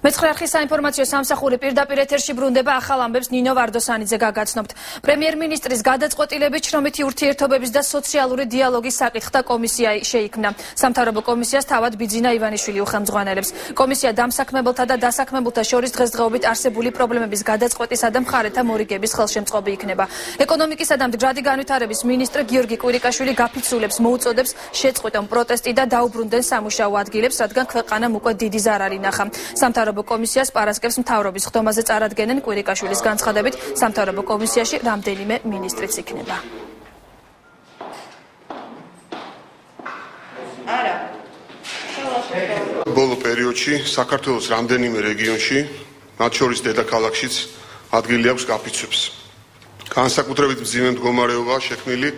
მეცხრე არხის საინფორმაციო სამსახური პირდაპირ ეთერში ბრუნდება ახალ ამბებს ნინო ვარდოსანიძე გაგაცნობთ. პრემიერ-მინისტრის გადაწყვეტილებით შრომითი ურთიერთობების და სოციალური დიალოგის საკითხთა კომისია შეიქმნა. სამთავრობო კომისიას თავად ბიძინა ივანიშვილი უხელმძღვანელებს. კომისია დამსაქმებელთა და დასაქმებულთა შორის დღესდღეობით არსებული პრობლემების გადაწყვეტისა და მხარეთა მორიგების ხელშემწყობი იქნება. ეკონომიკისა და მდგრადი განვითარების მინისტრ გიორგი კვირიკაშვილი გაფიცულებს მოუწოდებს შეწყვეტონ პროტესტი და დაუბრუნდნენ სამუშაო ადგილებს, რადგან ქვეყანამ უკვე დიდი ზარარი ნახა. სამთავრობო კომისიას პარასკევს მთავრობის ხდომაზე წარადგენენ. კვირიკაშვილის განცხადებით, სამთავრობო კომისიაში რამდენიმე მინისტრიც იქნება. ბოლო პერიოდში საქართველოს რამდენიმე რეგიონში, მათ შორის დედაქალაქშიც ადგილი აქვს გაფიცვებს. განსაკუთრებით მძიმე მდგომარეობაა შექმნილი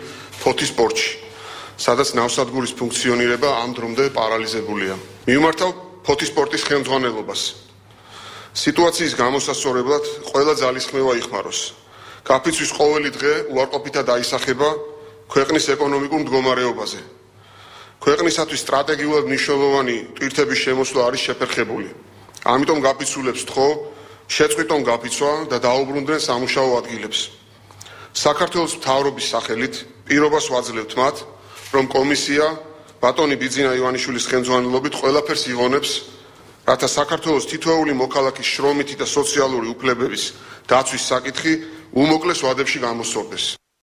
ფოთის პორტში, სადაც ნავსადგურის ფუნქციონირება ამ დრომდე პარალიზებულია. მივმართავ ფოთის პორტის ხელმძღვანელობას. სიტუაციის გამოსასწორებლად ყველა ძალისხმევა იხმაროს. გაფიცვის ყოველი დღე უარყოფითად აისახება ქვეყნის ეკონომიკურ მდგომარეობაზე. ქვეყნისათვის სტრატეგიულად მნიშვნელოვანი ტვირთების შემოსვლა არის შეფერხებული. ამიტომ გაფიცულებს ვთხოვ, შეწყვიტონ გაფიცვა და დაუბრუნდნენ სამუშაო ადგილებს. საქართველოს მთავრობის სახელით პირობას ვაძლევთ მათ, რომ კომისია ბატონი ბიძინა ივანიშვილის ხელმძღვანელობით ყველაფერს იღონებს, რათა საქართველოს თითოეული მოქალაქის შრომითი და სოციალური უფლებების დაცვის საკითხი უმოკლეს ვადებში გამოსწორდეს.